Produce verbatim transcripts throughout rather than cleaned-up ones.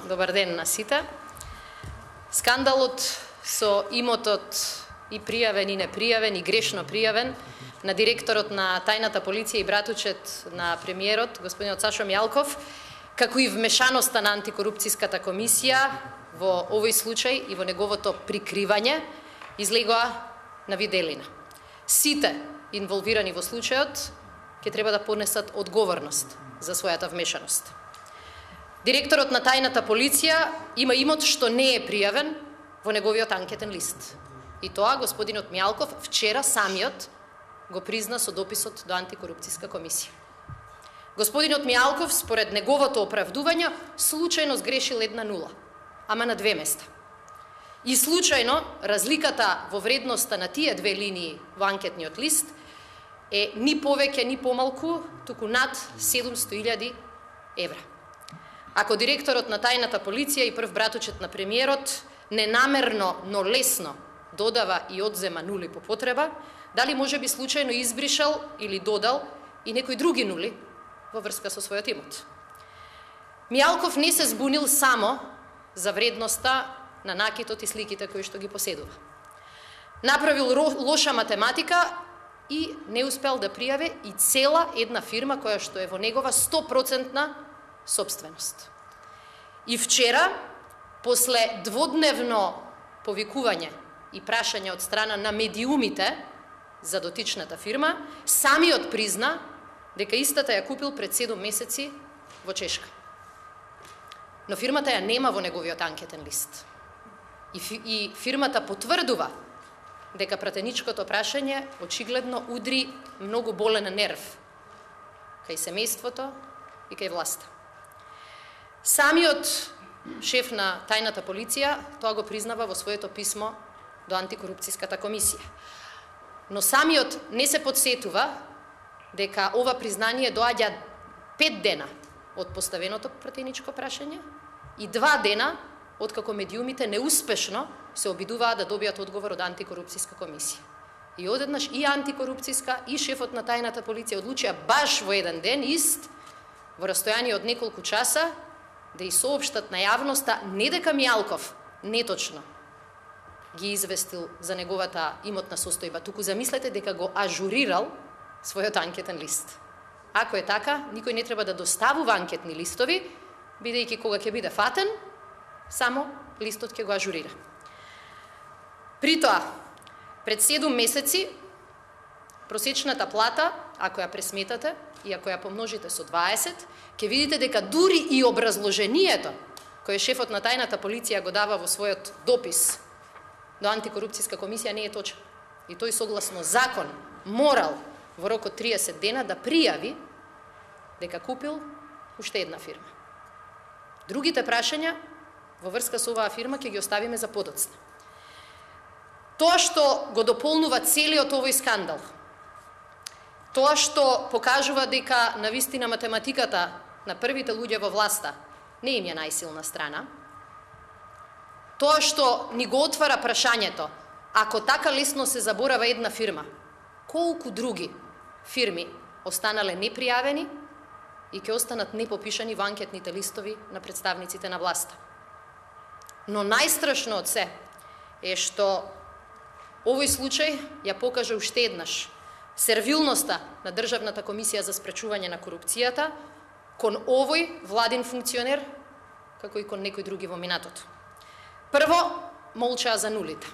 Добар ден на сите. Скандалот со имотот и пријавен и непријавен и грешно пријавен на директорот на тајната полиција и братучет на премиерот, господинот Сашо Мијалков, како и вмешаноста на антикорупцијската комисија во овој случај и во неговото прикривање, излегоа на виделина. Сите инволвирани во случајот ќе треба да понесат одговорност за својата вмешаност. Директорот на тајната полиција има имот што не е пријавен во неговиот анкетен лист. И тоа господинот Мијалков вчера самиот го призна со дописот до антикорупцијска комисија. Господинот Мијалков, според неговото оправдување, случајно сгрешил една нула, ама на две места. И случајно разликата во вредноста на тие две линии во анкетниот лист е ни повеќе ни помалку, туку над седумстотини илјади евра. Ако директорот на тајната полиција и прв братучет на премиерот ненамерно, но лесно додава и одзема нули по потреба, дали може би случајно избришал или додал и некои други нули во врска со својот имот. Мијалков не се збунил само за вредноста на накитот и сликите кои што ги поседува. Направил лоша математика и не успел да пријави и цела една фирма која што е во негова сто процентна собственост. И вчера, после дводневно повикување и прашање од страна на медиумите за дотичната фирма, самиот призна дека истата ја купил пред седум месеци во Чешка. Но фирмата ја нема во неговиот анкетен лист. И, фи, и фирмата потврдува дека пратеничкото прашање очигледно удри многу болен нерв кај семејството и кај власта. Самиот шеф на тајната полиција тоа го признава во своето писмо до антикорупцијската комисија. Но самиот не се подсетува дека ова признание доаѓа пет дена од поставеното пратеничко прашање и два дена од како медиумите неуспешно се обидуваат да добијат одговор од антикорупцијска комисија. И одеднаш и антикорупцијска и шефот на тајната полиција одлучија баш во еден ден ист, во растојание од неколку часа, да и соопштат на јавноста не дека Мијалков неточно ги известил за неговата имотна состојба, туку замислете дека го ажурирал својот анкетен лист. Ако е така, никој не треба да доставува анкетни листови, бидејќи кога ќе биде фатен, само листот ќе го ажурира. При тоа, пред седум месеци, просечната плата, ако ја пресметате и ако ја помножите со дваесет, ќе видите дека дури и образложението кое шефот на тајната полиција го дава во својот допис до антикорупцијска комисија не е точен. И тој согласно закон морал во рок од триесет дена да пријави дека купил уште една фирма. Другите прашања во врска со оваа фирма ќе ги оставиме за подоцна. Тоа што го дополнува целиот овој скандал, тоа што покажува дека навистина математиката на првите луѓе во власта не им е најсилна страна, тоа што ни го отвара прашањето, ако така лесно се заборава една фирма, колку други фирми останале непријавени и ќе останат непопишани во анкетните листови на представниците на власта. Но најстрашно од се е што овој случај ја покажа уште еднаш сервилноста на Државната комисија за спречување на корупцијата кон овој владин функционер, како и кон некои други во минатото. Прво, молчаа за нулите.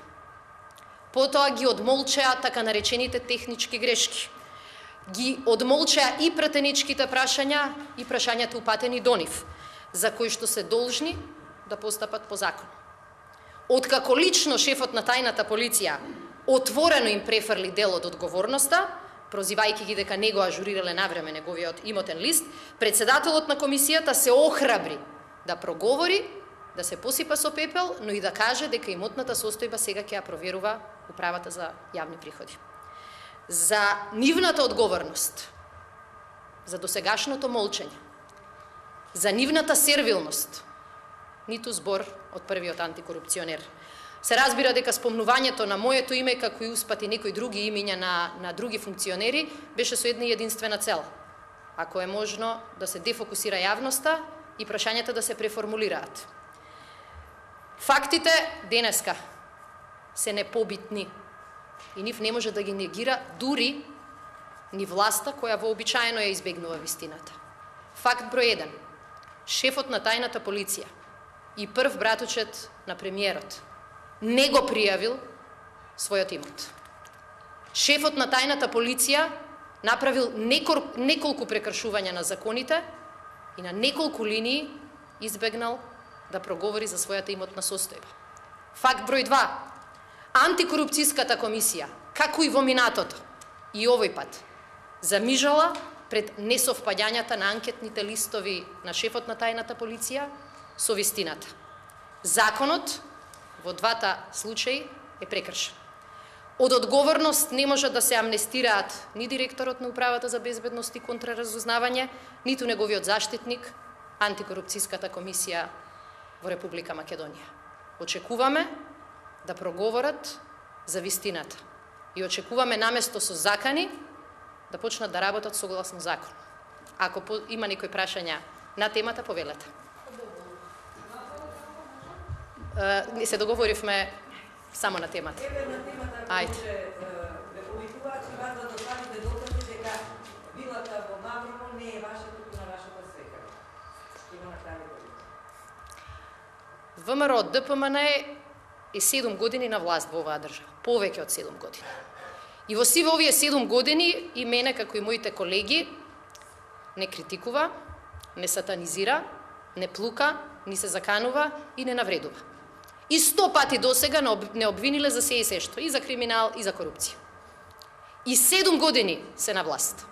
Потоа ги одмолчаа така наречените технички грешки. Ги одмолчаа и пратеничките прашања и прашањата упатени до нив, за кои што се должни да постапат по закон. Откако лично шефот на тајната полиција отворено им префрли дел од одговорноста, прозивајќи ги дека не го ажурирале навреме неговиот имотен лист, председателот на комисијата се охрабри да проговори, да се посипа со пепел, но и да каже дека имотната состојба сега ќе ја проверува Управата за јавни приходи. За нивната одговорност, за досегашното молчење, за нивната сервилност, ниту збор од првиот антикорупционер. Се разбира дека спомнувањето на моето име, како и успати некои други имиња на, на други функционери, беше со една единствена цел. Ако е можно да се дефокусира јавноста и прашањата да се преформулираат. Фактите денеска се непобитни и нив не може да ги негира дури ни власта која вообичаено ја избегнува вистината. Факт број еден. Шефот на тајната полиција и прв братучет на премиерот не го пријавил својот имот. Шефот на тајната полиција направил неколку прекршувања на законите и на неколку линии избегнал да проговори за својата имотна состојба. Факт број два. Антикорупцијската комисија, како и во минатото, и овој пат, замижала пред несовпаѓањата на анкетните листови на шефот на тајната полиција со вистината. Законот во двата случаи е прекршен. Од одговорност не може да се амнестираат ни директорот на Управата за безбедност и контраразузнавање, ниту неговиот заштитник, Антикорупцијската комисија во Република Македонија. Очекуваме да проговорат за вистината и очекуваме наместо со закани да почнат да работат согласно закон. Ако има некои прашања на темата, повелете. Не се договоривме само на темата. Ајде. Ве повикуваат и вас да доставите докази дека вилата во Маврово не е ваша, туку на вашата свекра. Има направи. ВМРО Д П М Н е седум години на власт во оваа држава, повеќе од седум години. И во сиве овие седум години и мене, како и моите колеги, не критикува, не сатанизира, не плука, ни се заканува и не навредува. И сто пати досега не обвиниле за се и се што, и за криминал, и за корупција. И седум години се на власт,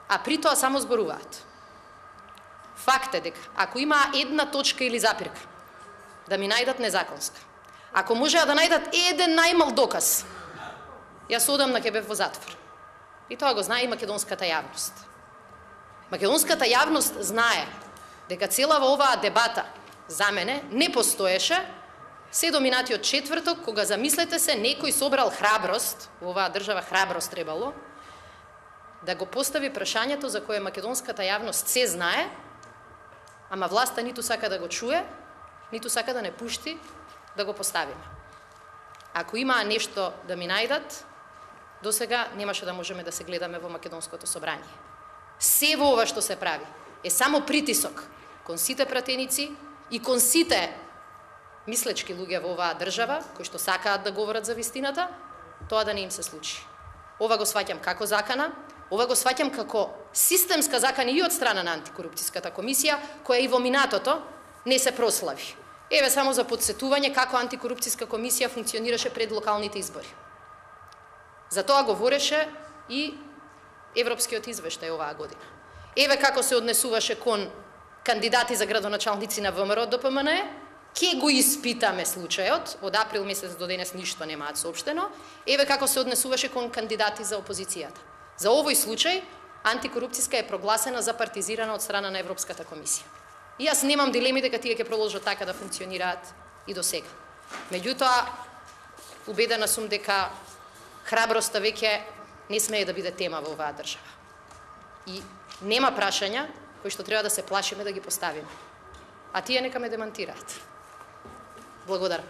а при тоа само зборуваат. Факт е дека, ако има една точка или запирка, да ми најдат незаконска, ако можеа да најдат еден најмал доказ, јас одам на Кебев во затвор. И тоа го знае и македонската јавност. Македонската јавност знае дека целава оваа дебата за мене не постоеше се до минатиот четврток, кога, замислете се, некој собрал храброст, во оваа држава храброст требало, да го постави прашањето за кое македонската јавност се знае, ама власта ниту сака да го чуе, ниту сака да не пушти да го поставиме. Ако има нешто да ми најдат, досега немаше да можеме да се гледаме во Македонското собрание. Се во ова што се прави е само притисок кон сите пратеници и кон сите мислечки луѓе во оваа држава, кои што сакаат да говорат за вистината, тоа да не им се случи. Ова го сваќам како закана, ова го сваќам како системска закана и од страна на Антикорупцијската комисија, која и во минатото не се прослави. Еве само за подсетување како Антикорупцијска комисија функционираше пред локалните избори. За тоа говореше и Европскиот извештај оваа година. Еве како се однесуваше кон кандидати за градоначалници на ВМРО Д П М Н, ке го испитаме случајот, од април месец до денес ништо немаат соопштено, еве како се однесуваше кон кандидати за опозицијата. За овој случај, Антикорупцијска е прогласена за партизирана од страна на Европската комисија. И јас немам дилеми дека тие ќе продолжат така да функционираат и до сега. Меѓутоа, убедена сум дека храброста веќе не смее да биде тема во оваа држава. И нема прашања кои што треба да се плашиме да ги поставиме. А тие нека ме демантираат. Благодарам.